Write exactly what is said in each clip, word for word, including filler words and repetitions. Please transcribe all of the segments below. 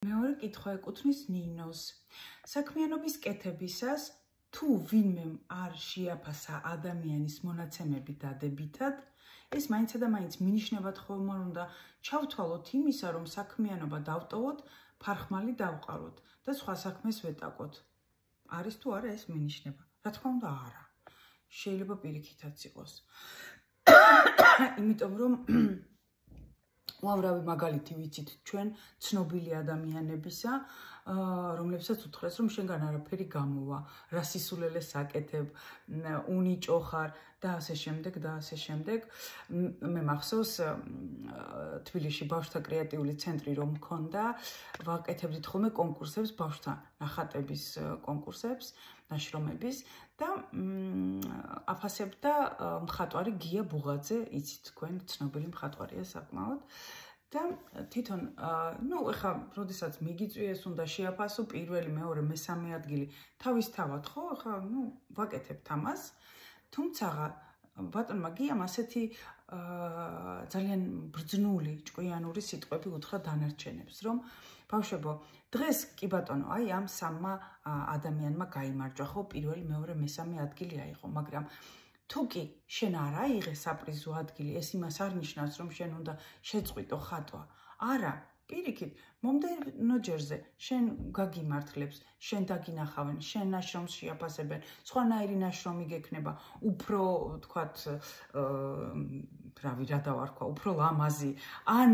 მეორე კითხვა ეკუთვნის ნინოს. საქმიანობის კეთებისას თუ ვინმემ არ შეაფასა ადამიანის მონაცემები დადებითად, ეს მაინცსა და მაინც მინიშნებად ხომ არ უნდა ჩავთვალოთ იმისა, რომ საქმიანობა დავტოვოთ, ფარხმალი დავყაროთ და სხვა საქმეს ვეტაკოთ. არის თუ არა ეს მინიშნება? რა თქმა უნდა არა. შეიძლება პირიქითაც იყოს. იმიტომ რომ უამრავი მაგალითი ვიცით ჩვენ ცნობილი ადამიანებისა, რომლებსაც უთხრეს, რომ შენგან არაფერი გამოვა, რა სისულელეს აკეთებ, უნიჭო ხარ და ასე შემდეგ და ასე შემდეგ. მე მახსოვს თბილისში ბავშვთა კრეატიული ცენტრი რომ მქონდა, ვაკეთებდით ხოლმე კონკურსებს, ბავშვთა ნახატების კონკურსებს, ნაშრომების და აფასებდა მხატვარი გია ბუღაძე, იცით თქვენ, ცნობილი მხატვარია საკმაოდ. და თვითონ, ну, ეხა, როდესაც მიგიწვიეს, უნდა შეაფასო პირველი, მეორე, მესამე ადგილი თავისთავად, ხო? ეხა, ну, ვაკეთებთ ამას. თუმცა ბატონმა გიამ ასეთი ძალიან ბრძნული, ჭკვიანური სიტყვები უთხრა დანარჩენებს, რომ ბავშვებო, დღეს კი ბატონო, აი ამ სამმა ადამიანმა გაიმარჯვა, ხო, პირველი, მეორე, მესამე ადგილი აიღო, მაგრამ თუ კი შენ არ აიღე საპრიზო ადგილი, ეს იმას არ ნიშნავს, რომ შენ უნდა შეწყვიტო ხატვა. არა, პირიქით, მომდევნო ჯერზე შენ გაგიმართლებს, შენ დაგინახავენ, შენ ნაშრომს შეაფასებენ, სხვანაირი ნაშრომი გექნება, უფრო, თქვათ, რავი, რა დავარქვა, უფრო ლამაზი, ან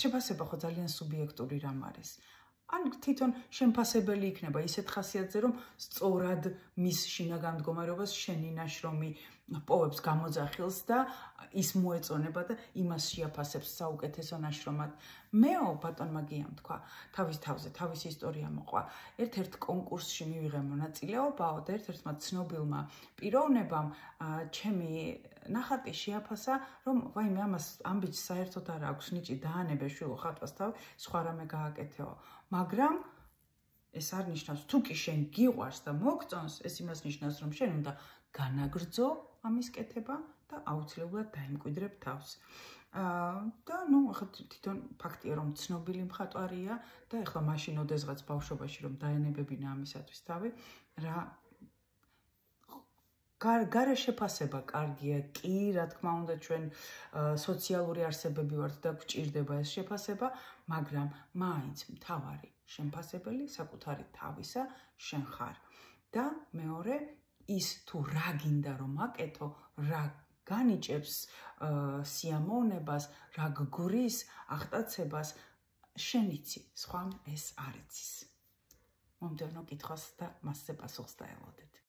შეფასება ხო ძალიან სუბიექტური რამ არის. ან თვითონ შემფასებელი იქნება ისეთ ხასიათზე, რომ სწორად მის შინაგან მდგომარეობას შენი ნაშრომი პოვებს გამოძახილს და ის მოეწონება და იმას შეაფასებს საუკეთესო ნაშრომად. მეო ბატონმა გიამ თქვა, თავის თავზე, თავის ისტორია მოყვა. ერთ-ერთ კონკურსში მივიღე მონაწილეობაო და ერთ-ერთმა ცნობილმა პიროვნებამ ჩემი ნახატი შეაფასა, რომ ვაიმე ამას ამბიც საერთოდ არ აქვს, ნიჭი დაანებე შვილო ხატვას თავი, სხვა რამე გააკეთეო. მაგრამ ეს არ ნიშნავს, თუ კი შენ გიყვარს და მოგწონს, ეს იმას ნიშნავს, რომ შენ უნდა განაგრძო ამის კეთება და აუცილებლად დაიმკვიდრებ თავს. და ნუ ახლა თვითონ ფაქტია, რომ ცნობილი მხატვარია და ახლა მაშინ ოდესღაც ბავშვობაში რომ დაენებებინა ამისათვის თავი, რა გარე შეფასება კარგია, კი, რა თქმა უნდა, ჩვენ სოციალური არსებები ვართ და გვჭირდება ეს შეფასება, მაგრამ მაინც მთავარი შემფასებელი საკუთარი თავისა შენ ხარ. და მეორე, ის თუ რა გინდა რომ აკეთო, რა განიჭებს სიამოვნებას, რა გგვრის აღტაცებას, შენ იცი, სხვამ ეს არ იცის. მომდევნო კითხვას და მასზე პასუხს დაელოდეთ.